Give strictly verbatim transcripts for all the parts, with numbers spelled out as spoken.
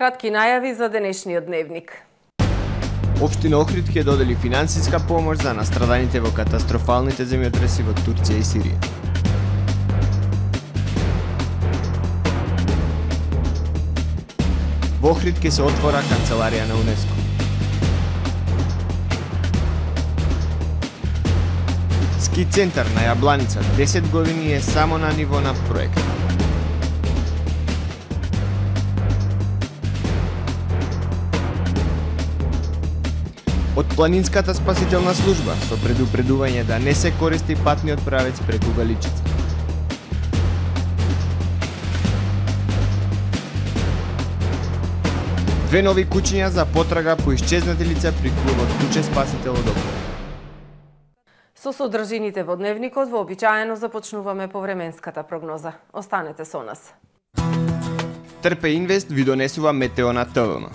кратки најави за денешниот дневник. Општина Охрид ќе додели финансиска помош за настраданите во катастрофалните земјотреси во Турција и Сирија. Во Охрид ќе се отвора канцеларија на УНЕСКО. Ски центар на Јабланица десет години е само на ниво на проект. Од планинската спасителна служба со предупредување да не се користи патниот правец преку Галичица. Две нови кучиња за потрага по исчезнати лица при клубот Куче спасител од Охрид. Со содржините во дневникот вообичаено започнуваме повременската прогноза. Останете со нас. Трпе Инвест ви донесува метео на ТВМ.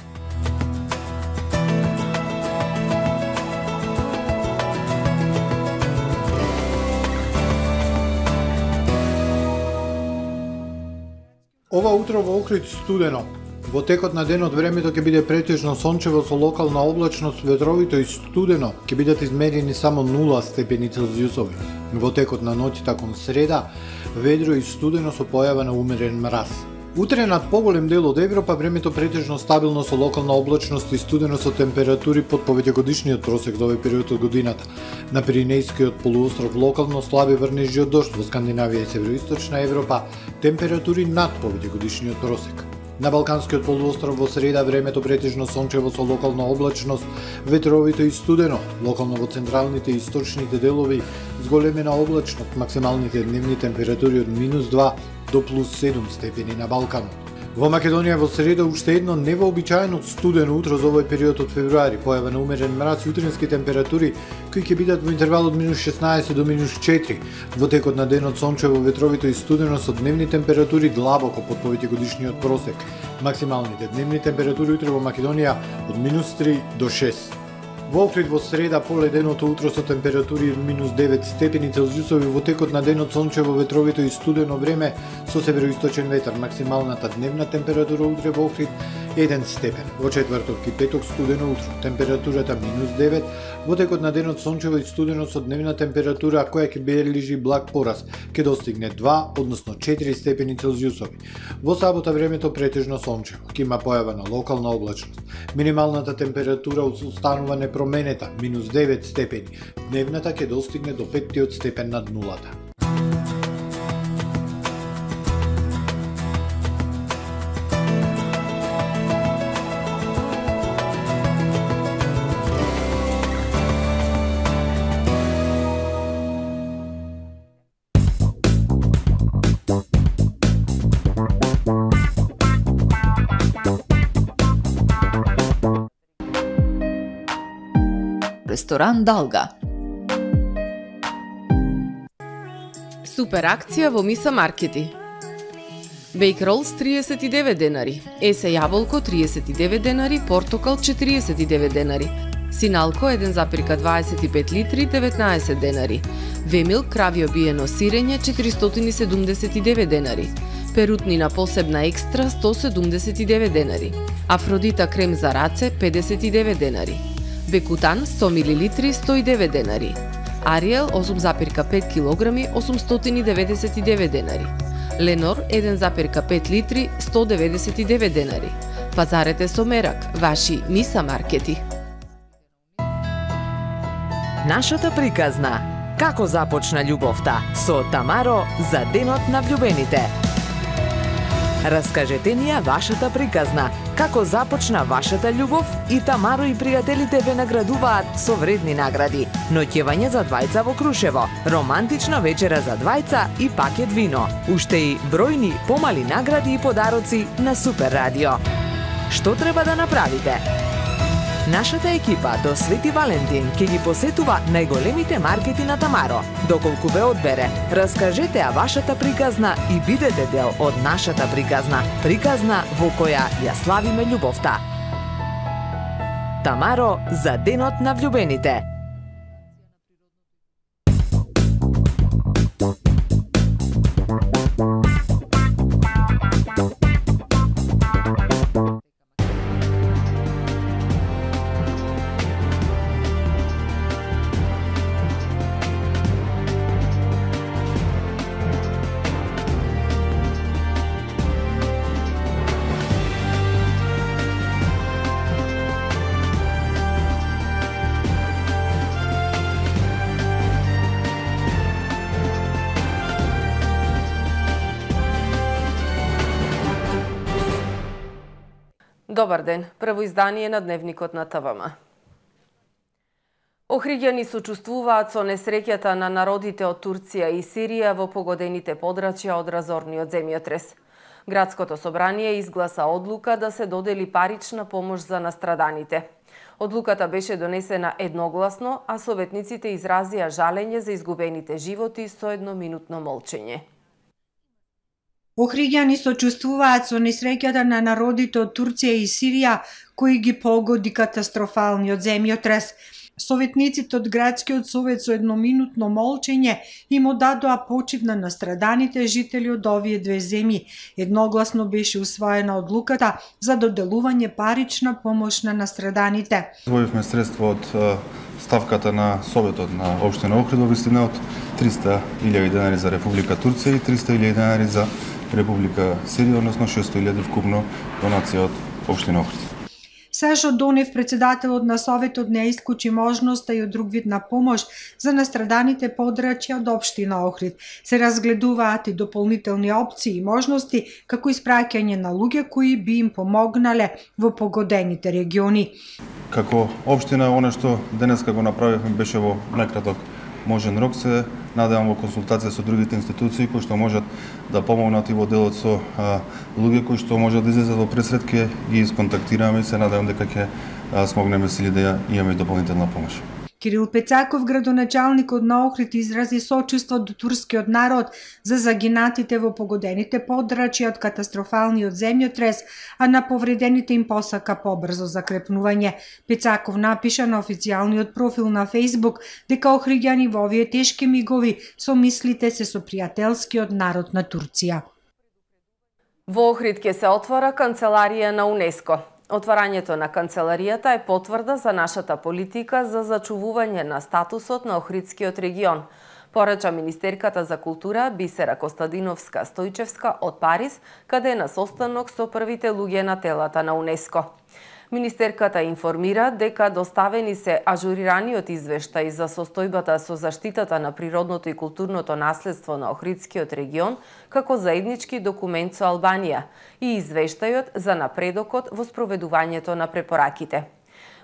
Ова утро во Охрид студено. Во текот на денот времето ќе биде претежно сончево со локална облачност, ветровито и студено ќе бидат измерени само нула степени Целзиусови. Во текот на ноќта кон среда, ведро и студено со појава на умерен мраз. Утре над поголем дел од Европа времето претежно стабилно со локална облачност и студено со температури под повеќегодишниот просек за овој период од годината. На Пиринејскиот полуостров локално слаби врнежи од дожд, во Скандинавија и североисточна Европа температури над повеќегодишниот просек. На Балканскиот полуостров во среда времето претежно сончево со локална облачност, ветровито и студено, локално во централните и источните делови зголемена облачност, максималните дневни температури од минус два до плюс седум степени на Балканот. Во Македонија во среда уште едно невообичаено студено утро за овој период од февруари, појава на умерен мраз и утрински температури кои ќе бидат во интервал од минус шеснаесет до минус четири. Во текот на денот сончево, ветровито и студено со дневни температури длабоко под повеќегодишниот просек. Максималните дневни температури утре во Македонија од минус три до шест. Во Охрид во среда поледеното утро со температури од минус девет степени Целзиусови, во текот на денот сончево, ветровито и студено време со североисточен ветар. Максималната дневна температура утре во Охрид еден степен. Во четврток и петок студено утро, температурата минус девет, во текот на денот сончево и студено со дневна температура која ќе бележи благ пораз, ќе достигне два, односно четири степени Целзиусови. Во сабота времето претежно сончево, ќе има појава на локална облачност. Минималната температура останува непроменета, минус девет степени. Дневната ќе достигне до петтиот степен над нулата. Ресторан Далга. Супер акција во Миса Маркети. Бейк ролс триесет и девет денари, есе јаболко триесет и девет денари, портокал четириесет и девет денари, синалко еден запирка дваесет и пет литри деветнаесет денари, вемил кравјо биено сирење четиристотини седумдесет и девет денари, перутнина посебна екстра сто седумдесет и девет денари, Афродита крем за раце педесет и девет денари, Бекутан сто милилитри сто и девет денари, Ариел осум запирка пет килограми осумстотини деветдесет и девет денари, Ленор еден запирка пет литри сто деветдесет и девет денари. Пазарете со мерак, ваши Миса Маркети. Нашата приказна. Како започна љубовта со Тамаро за денот на влюбените. Раскажете ни ја вашата приказна. Како започна вашата љубов и Тамаро и пријателите ве наградуваат со вредни награди. Ноќевање за двајца во Крушево, романтична вечера за двајца и пакет вино. Уште и бројни помали награди и подароци на Супер Радио. Што треба да направите? Нашата екипа до Свети Валентин ќе ги посетува најголемите маркети на Тамаро. Доколку ве одбере, раскажете ја вашата приказна и бидете дел од нашата приказна. Приказна во која ја славиме љубовта. Тамаро за денот на влюбените. Добар ден, прво издание на Дневникот на ТВМ. Охриѓани сочувствуваат со несреќата на народите од Турција и Сирија во погодените подрачја од разорниот земјотрес. Градското собрание изгласа одлука да се додели парична помош за настраданите. Одлуката беше донесена едногласно, а советниците изразија жалење за изгубените животи со едноминутно молчење. Охриѓани сочувствуваат со несреќата на народите од Турција и Сирија, кои ги погоди катастрофалниот земјотрес. Советниците од Градскиот совет со едноминутно молчење им одадоа почит на настраданите жители од овие две земји. Едногласно беше усвоена одлуката за доделување парична помош на настраданите. Извојивме средства од ставката на Советот на општина Охрид во висина од триста илјади денари за Република Турција и триста илјади денари за Република Сирија, односно шестоста илјади вкупно донација од општина Охрид. Сашо Донев, председателот на Советот, не исклучи можноста и од друг вид на помош за настраданите подрачја од општина Охрид. Се разгледуваат и дополнителни опции и можности, како испраќање на луѓе кои би им помогнале во погодените региони. Како општина, оно што денеска го направивме беше во најкраток можен рок. Се надевам во консултација со другите институции кои што можат да помогнат и во делот со а, луѓе кои што можат да излезат во пресред, ќе ги исконтактираме и се надевам дека ќе смогнеме сили да имаме дополнителна помош. Кирил Пецаков, градоначалникот на Охрид, изрази сочувство до турскиот народ за загинатите во погодените подрачја од катастрофалниот земјотрес, а на повредените им посака побрзо закрепнување. Пецаков напиша на официјалниот профил на Фејсбук дека охриѓани во овие тешки мигови со мислите се со пријателскиот народ на Турција. Во Охрид ќе се отвора канцеларија на УНЕСКО. Отварањето на канцеларијата е потврда за нашата политика за зачувување на статусот на Охридскиот регион, порача министерката за култура Бисера Костадиновска-Стојчевска од Париз, каде е на состанок со првите луѓе на телата на УНЕСКО. Министерката информира дека доставени се ажурираниот извештај за состојбата со заштитата на природното и културното наследство на Охридскиот регион како заеднички документ со Албанија и извештајот за напредокот во спроведувањето на препораките.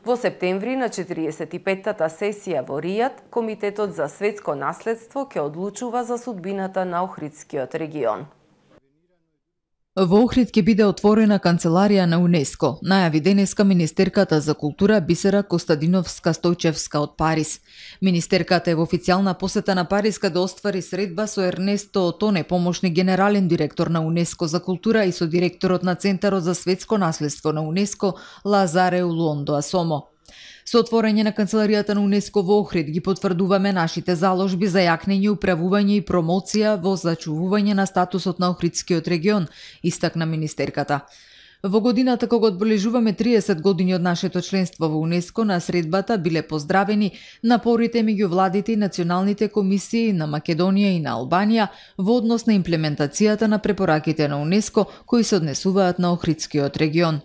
Во септември на четириесет и петтата сесија во Ријад, Комитетот за светско наследство ќе одлучува за судбината на Охридскиот регион. Во Охрид ќе биде отворена канцеларија на УНЕСКО, најави денеска министерката за култура Бисера Костадиновска-Стојчевска од Париз. Министерката е во официјална посета на Париз каде оствари средба со Ернесто Отоне, помошник генерален директор на УНЕСКО за култура, и со директорот на Центарот за светско наследство на УНЕСКО Лазаре Улондо Асомо. Со отворање на канцеларијата на УНЕСКО во Охрид ги потврдуваме нашите заложби за јакнење, управување и промоција во зачувување на статусот на Охридскиот регион, истакна министерката. Во годината кога одбележуваме триесет години од нашето членство во УНЕСКО, на средбата биле поздравени напорите меѓу владите и националните комисии на Македонија и на Албанија во однос на имплементацијата на препораките на УНЕСКО кои се однесуваат на Охридскиот регион.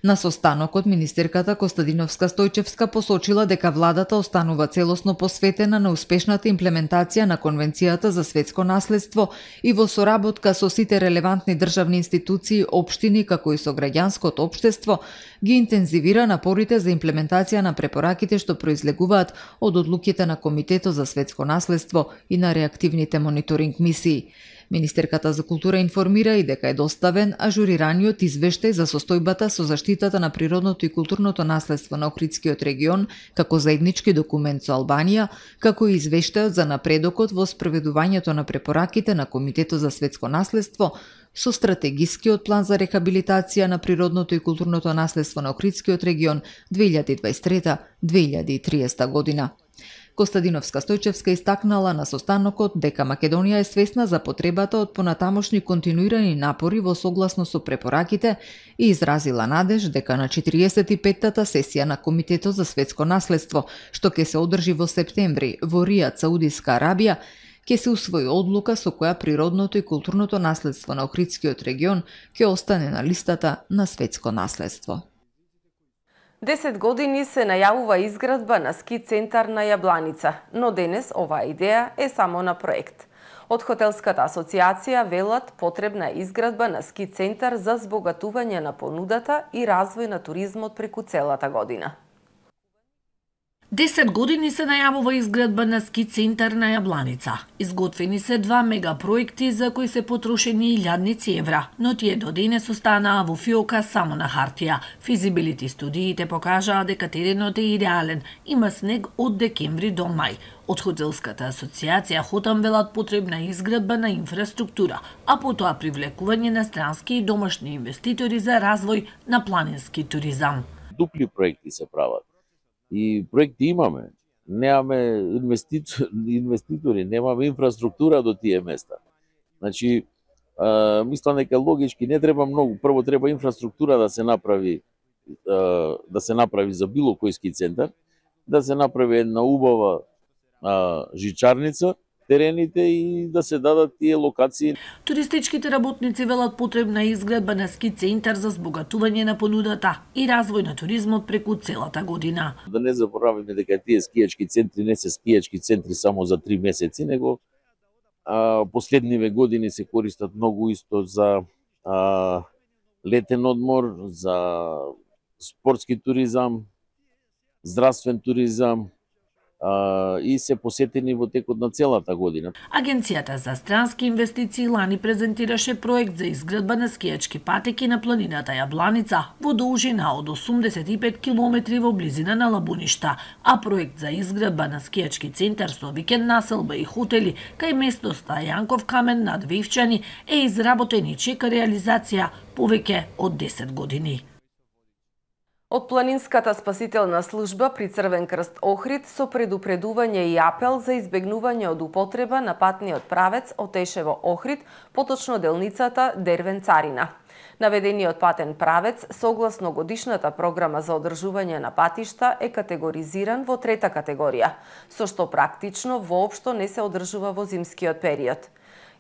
На состанокот министерката Костадиновска-Стојчевска посочила дека владата останува целосно посветена на успешната имплементација на Конвенцијата за светско наследство и во соработка со сите релевантни државни институции, општини, како и со граѓанското општество, ги интензивира напорите за имплементација на препораките што произлегуваат од одлуките на Комитетот за светско наследство и на реактивните мониторинг мисии. Министерката за култура информира и дека е доставен ажурираниот извештај за состојбата со заштитата на природното и културното наследство на Охридскиот регион како заеднички документ со Албанија, како и извештајот за напредокот во спроведувањето на препораките на Комитетот за светско наследство со стратегискиот план за рехабилитација на природното и културното наследство на Охридскиот регион две илјади дваесет и трета до две илјади и триесета година. Костадиновска-Стојчевска истакнала на состанокот дека Македонија е свесна за потребата од понатамошни континуирани напори во согласно со препораките и изразила надеж дека на четириесет и петтата сесија на Комитетот за светско наследство, што ќе се одржи во септември во Ријад, Саудиска Арабија, ќе се усвои одлука со која природното и културното наследство на Охридскиот регион ќе остане на листата на светско наследство. Десет години се најавува изградба на ски центар на Јабланица, но денес оваа идеја е само на проект. Од Хотелската асоциација велат потребна е изградба на ски центар за збогатување на понудата и развој на туризмот преку целата година. десет години се најавува изградба на ски центар на Јабланица. Изготвени се два мегапроекти за кои се потрошени илјадници евра, но тие до денес останаа во фиока само на хартија. Физибилити студиите покажаа дека теренот е идеален, има снег од декември до мај. Од Хотелската асоциација Хотам велат потребна изградба на инфраструктура, а потоа привлекување на странски и домашни инвеститори за развој на планински туризам. Дупли проекти се прават. И проекти имаме, немаме инвеститори, инвеститори, немаме инфраструктура до тие места. Значи, а, мислам дека логички не треба многу, прво треба инфраструктура да се направи, а, да се направи за било кој ски центар, да се направи една убава а, жичарница, терените и да се дадат тие локации. Туристичките работници велат потребна изградба на ски центар за збогатување на понудата и развој на туризмот преку целата година. Да не забораваме дека тие скијачки центри не се скијачки центри само за три месеци, него а, последниве години се користат многу исто за а, летен одмор, за спортски туризам, здравствен туризам, и се посетени во текот на целата година. Агенцијата за странски инвестиции лани презентираше проект за изградба на скијачки патеки на планината Јабланица во должина од осумдесет и пет километри во близина на Лабуништа, а проект за изградба на скијачки центар со викенд населба и хотели кај местноста Јанков камен над Вивчани е изработен и чека реализација повеќе од десет години. Од Планинската спасителна служба при Црвен крст Охрид со предупредување и апел за избегнување од употреба на патниот правец Отешево Охрид, поточно делницата Дервен Царина. Наведениот патен правец, согласно годишната програма за одржување на патишта, е категоризиран во трета категорија, со што практично воопшто не се одржува во зимскиот период.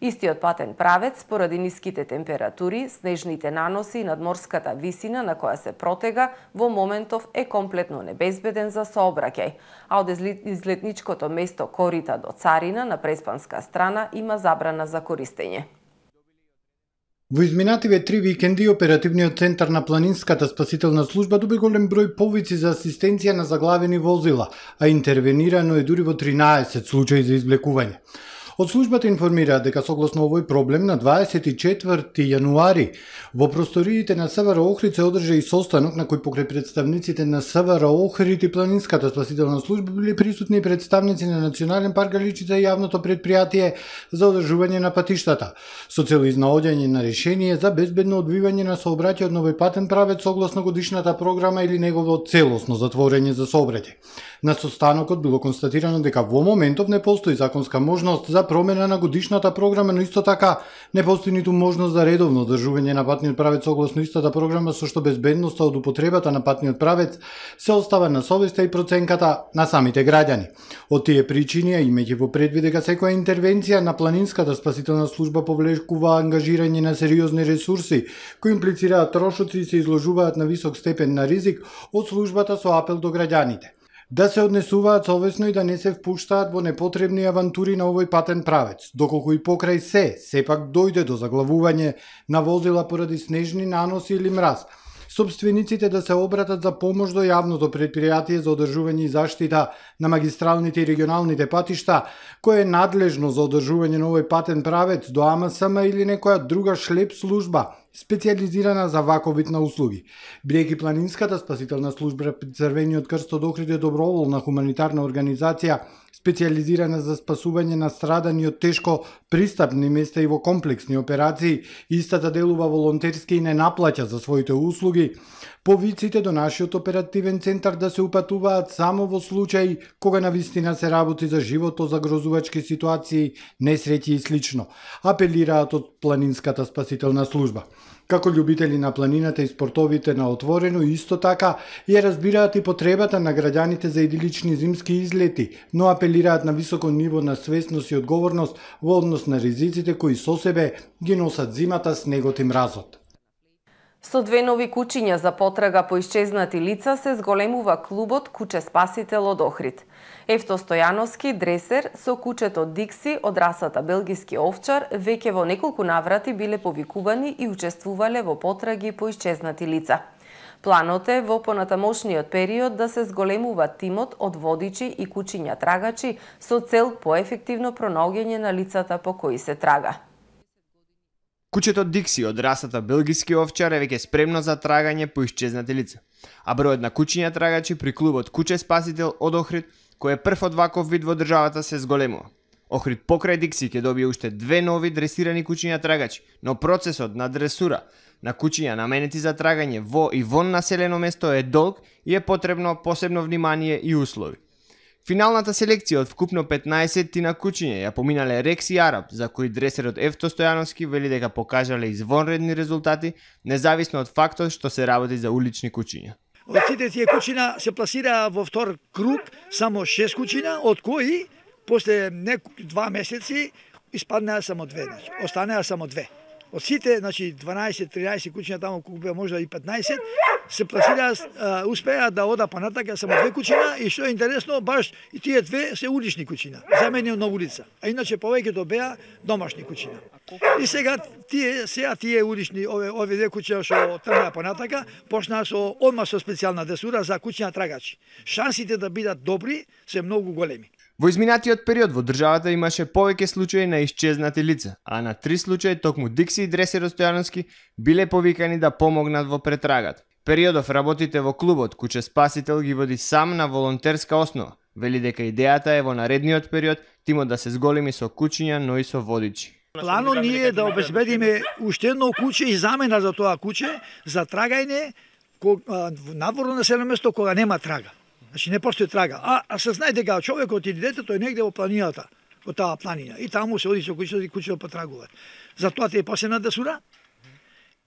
Истиот патен правец, поради ниските температури, снежните наноси и надморската висина на која се протега, во моментов е комплетно небезбеден за сообраќај, а од излетничкото место Корита до Царина на преспанска страна има забрана за користење. Во изминативе три викенди оперативниот центар на Планинската спасителна служба доби голем број повици за асистенција на заглавени возила, а интервенирано е дури во тринаесет случаи за извлекување. Од службата информираат дека согласно овој проблем на дваесет и четврти јануари во просториите на СВР Охрид се одржа и состанок на кој покрај представниците на СВР Охрид и Планинската спасителна служба били присутни представници на Национален парк Галичица и јавното предпријатие за одржување на патиштата, со цел изнаоѓање на решение за безбедно одвивање на сообраќајот на овој патен правец согласно годишната програма или негово целосно затворање за сообраќај. На состанокот било констатирано дека во моментов не постои законска можност за промена на годишната програма, но исто така не постои ниту можност за редовно одржување на патниот правец согласно истата програма, со што безбедноста од употребата на патниот правец се остава на совеста и проценката на самите граѓани. Од тие причини, имајќи во предвид дека секоја интервенција на Планинската спасителна служба повлекува ангажирање на сериозни ресурси кои имплицираат трошоци и се изложуваат на висок степен на ризик, од службата со апел до граѓаните да се однесуваат совесно и да не се впуштаат во непотребни авантури на овој патен правец, доколку и покрај се, сепак дојде до заглавување на возила поради снежни наноси или мраз, собствениците да се обратат за помош до јавното предпријатие за одржување и заштита на магистралните и регионалните патишта, кое е надлежно за одржување на овој патен правец до А М С М или некоја друга шлеп служба, специјализирана за ваков вид на услуги. Бидејќи Планинската спасителна служба при Црвениот крст од Охрид е доброволна хуманитарна организација, специјализирана за спасување на страдани од тешко пристапни места и во комплексни операции, истата делува волонтерски и не наплаќа за своите услуги, повиците до нашиот оперативен центар да се упатуваат само во случаи кога навистина се работи за животозагрозувачки ситуации, несреќи и слично, апелираат од Планинската спасителна служба. Како љубители на планината и спортовите на отворено, исто така ја разбираат и потребата на граѓаните за идилични зимски излети, но апелираат на високо ниво на свесност и одговорност во однос на ризиците кои со себе ги носат зимата, снегот и мразот. Со две нови кучиња за потрага по исчезнати лица се зголемува клубот Куче Спасител од Охрид. Евто Стојановски, дресер, со кучето Дикси од расата белгиски овчар, веќе во неколку наврати биле повикувани и учествувале во потраги по исчезнати лица. Планот е во понатамошниот период да се зголемува тимот од водичи и кучиња трагачи со цел поефективно пронаоѓање на лицата по кои се трага. Кучето Дикси од расата белгиски овчар е веќе спремно за трагање по исчезнати лица, а бројот на кучиња трагачи при клубот Куче Спасител од Охрид, кој е прв од ваков вид во државата, се зголемува. Охрид покрај Дикси ќе добие уште две нови дресирани кучиња трагачи, но процесот на дресура на кучиња наменети за трагање во и вон населено место е долг и е потребно посебно внимание и услови. Финалната селекција од вкупно петнаесет на кучиња ја поминале Рекс и Араб, за кои дресерот Евто Стојановски вели дека покажале извонредни резултати, независно од фактот што се работи за улични кучиња. Од сите тие кучиња се пласираа во втор круг само шест кучиња, од кои после два месеци испаднаа само две, значи останаа само две. Од сите, значи дванаесет-тринаесет кучиња таму купија можда и петнаесет, се пласираа, успеа да ода понатака само две кучиња и што е интересно, баш и тие две се улични кучиња, заменени на улица. А иначе повеќето беа домашни кучиња. И сега тие сега тие улични ове ове две кучиња што тргнаа понатака, почнаа со одма со специјална дресура за кучиња трагачи. Шансите да бидат добри се многу големи. Во изминатиот период во државата имаше повеќе случаи на исчезнати лица, а на три случаи токму Дикси и дресерот Стојановски биле повикани да помогнат во претрагата. Периодов работите во клубот Куче Спасител ги води сам на волонтерска основа. Вели дека идејата е во наредниот период тимот да се зголеми со кучиња, но и со водичи. Планот ни е да обезбедиме уште едно куче и замена за тоа куче за трагање надворно населено место кога нема трага. Значи не постои трага. А, а се знае дека човекот или детето е негде во планината, во таа планина. И таму се оди со кучето и кучето потрагуваат. Затоа ти е посебна дресура.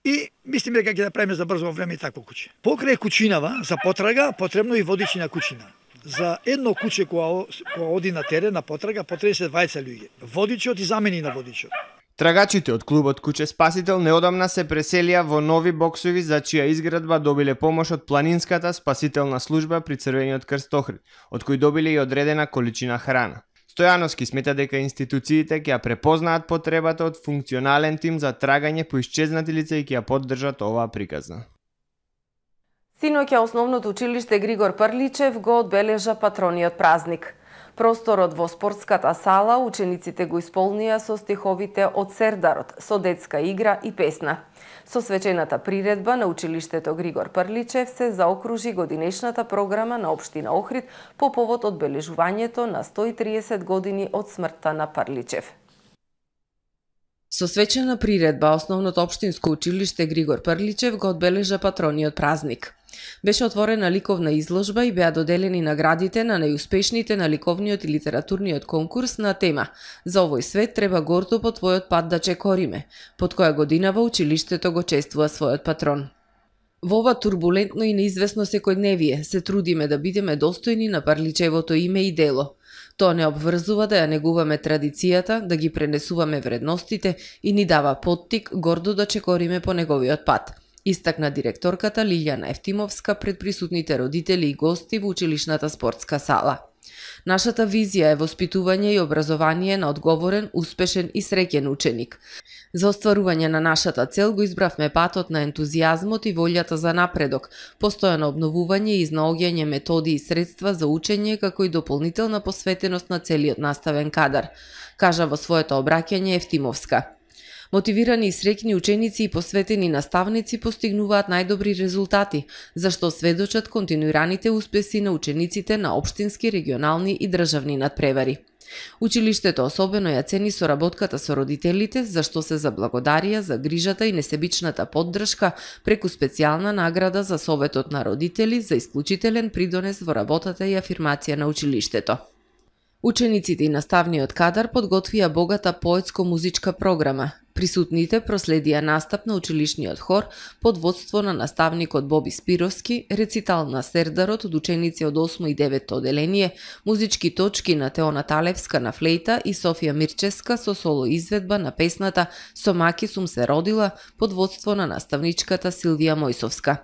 И мислиме дека ќе да правиме за брзо време и такво куче. Покрај кучинава за потрага потребно и водичи на кучина. За едно куче кога кога оди на терен на потрага потребни се дваесет луѓе. Водичот и замени на водичот. Трагачите од клубот Куче Спасител неодамна се преселија во нови боксови за чија изградба добиле помош од планинската спасителна служба при Црвениот крст Охрид, од кој добиле и одредена количина храна. Стојановски смета дека институциите ќе ја препознаат потребата од функционален тим за трагање по исчезнати лица и ќе ја поддржат оваа приказна. Синоќа основното училиште Григор Прличев го одбележа патрониот празник. Просторот во спортската сала учениците го исполнија со стиховите од Сердарот, со детска игра и песна. Со свечената приредба на училиштето Григор Прличев се заокружи годинешната програма на општина Охрид по повод одбележувањето на сто и триесет години од смртта на Прличев. Со свечена приредба основното општинско училиште Григор Прличев го одбележа патрониот празник. Беше отворена ликовна изложба и беа доделени наградите на најуспешните на ликовниот и литературниот конкурс на тема "За овој свет треба гордо по твојот пат да чекориме", под која годинава училиштето го чествува својот патрон. Во ова турбулентно и неизвестно секојдневие се трудиме да бидеме достојни на Прличевото име и дело. Тоа не обврзува да ја негуваме традицијата, да ги пренесуваме вредностите и ни дава поттик гордо да чекориме по неговиот пат, истакна директорката Лилјана Ефтимовска пред присутните родители и гости во училишната спортска сала. Нашата визија е воспитување и образование на одговорен, успешен и среќен ученик. За остварување на нашата цел го избравме патот на ентузијазмот и волјата за напредок, постојано обновување и изнаоѓање методи и средства за учење како и дополнителна посветеност на целиот наставен кадар, кажа во своето обраќање Ефтимовска. Мотивирани и среќни ученици и посветени наставници постигнуваат најдобри резултати, зашто сведочат континуираните успеси на учениците на општински, регионални и државни надпревари. Училиштето особено ја цени соработката со родителите, зашто се заблагодарија за грижата и несебичната поддршка преку специјална награда за Советот на родители за исклучителен придонес во работата и афирмација на училиштето. Учениците и наставниот кадар подготвија богата поетско-музичка програма. Присутните проследија настап на училишниот хор под водство на наставникот Боби Спировски, рецитал на Сердарот од ученици од осмо и девето оделение, музички точки на Теона Талевска на флейта и Софија Мирческа со соло изведба на песната "Со маки сум се родила" под водство на наставничката Силвија Мојсовска.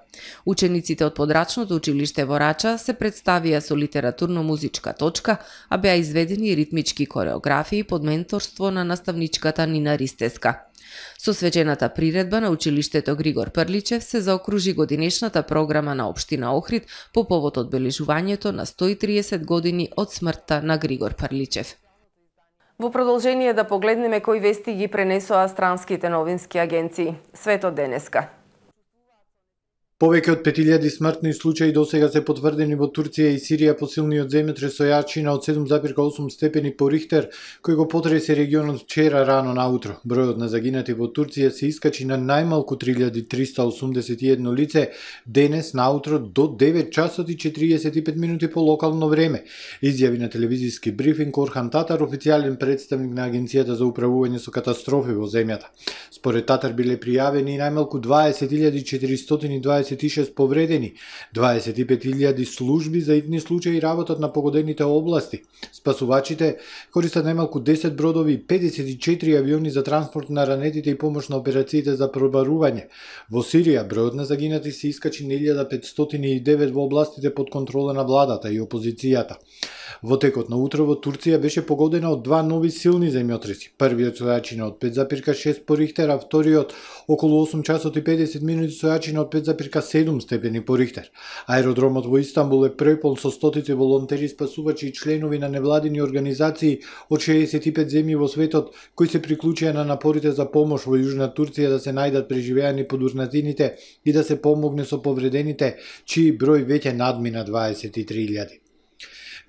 Учениците од подрачното училиште во Рача се представија со литературно-музичка точка, а беа изведени ритмички кореографии под менторство на наставничката Нина Ристеска. Со свечената приредба на училиштето Григор Прличев се заокружи годинешната програма на општина Охрид по повод одбележувањето на сто и триесет години од смртта на Григор Прличев. Во продолжение да погледнеме кои вести ги пренесоа странските новински агенции. Светот денеска. Повеќе од пет илјади смртни случаи досега се потврдени во Турција и Сирија по силниот земјотрес со јачина од седум зарез осум степени по Рихтер, кој го потресе регионот вчера рано наутро. Бројот на загинати во Турција се искачи на најмалку три илјади триста осумдесет и едно лице денес наутро до девет часот и четириесет и пет минути по локално време. Изјави на телевизиски брифинг Орхан Татар, официјален представник на Агенцијата за управување со катастрофи во земјата. Според Татар биле пријавени најмалку дваесет илјади четиристотини дваесет и шест повредени, дваесет и пет илјади служби за итни случаи работат на погодените области. Спасувачите користат најмалку десет бродови и педесет и четири авиони за транспорт на ранетите и помош на операциите за пробарување. Во Сирија бројот на загинати се искачи на илјада петстотини и девет во областите под контрола на владата и опозицијата. Во текот на утрово Турција беше погодена од два нови силни земјотреси. Првиот со јачина од пет зарез шест по Рихтер, а вториот околу осум часот и педесет минути со јачина од пет зарез седум степени по Рихтер. Аеродромот во Истанбул е препол со стотици волонтери, спасувачи и членови на невладини организации од шеесет и пет земји во светот кои се приклучија на напорите за помош во Јужна Турција да се најдат преживеани подурнатините и да се помогне со повредените, чии број веќе надмина дваесет и три илјади.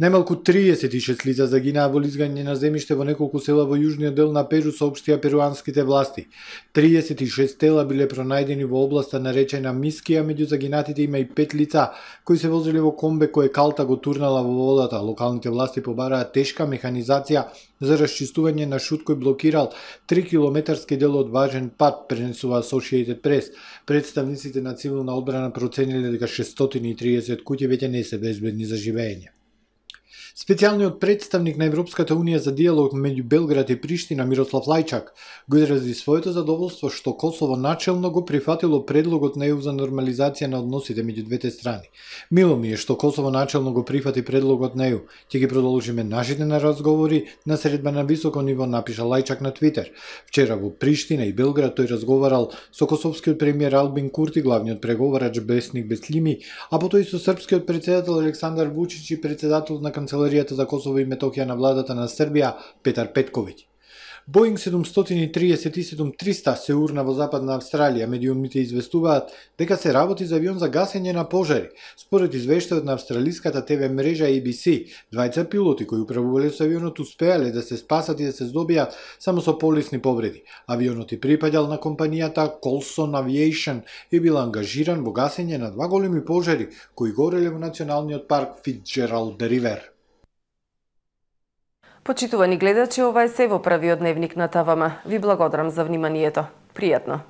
Најмалку триесет и шест лица загинаа во лизгање на земјиште во неколку села во јужниот дел на Перу, соопштија перуанските власти. триесет и шест тела биле пронајдени во областа наречена Мискија, меѓу загинатите има и пет лица кои се возеле во комбе кое калта го турнала во водата. Локалните власти побараа тешка механизација за расчистување на шут кој блокирал три километарски дел од важен пат, пренесува Associated Press. Представниците на цивилна одбрана процениле дека шестстотини и триесет куќи веќе не се безбедни за живење. Специјалниот представник на Европската Унија за диалог меѓу Белград и Приштина Мирослав Лајчак го изрази своето задоволство што Косово начелно го прифатило предлогот на Е У за нормализација на односите меѓу двете страни. Мило ми е што Косово начелно го прифати предлогот на Е У. Ќе ги продолжиме нашите на разговори на средба на високо ниво, напиша Лајчак на Твитер. Вчера во Приштина и Белград тој разговарал со косовскиот премиер Албин Курти, главниот преговарач Бесник Беслими, а потоа и со српскиот председател Александар Вучич и председателот на канцеларијата за Косово и Метохија на владата на Србија Петар Петковиќ. Боинг седумстотини триесет и седум триста се урна во Западна Австралија. Медиумите известуваат дека се работи за авион за гасење на пожари. Според извештајот на австралиската Те Ви мрежа А Би Си, двајца пилоти кои управувале со авионот успеале да се спасат и да се здобијат само со полесни повреди. Авионот и припаѓал на компанијата Colson Aviation и бил ангажиран во гасење на два големи пожари кои гореле во националниот парк Фицџералд Ривер. Почитувани гледачи, ова е се во првиот дневник на ТВМ. Ви благодарам за вниманието. Пријатно!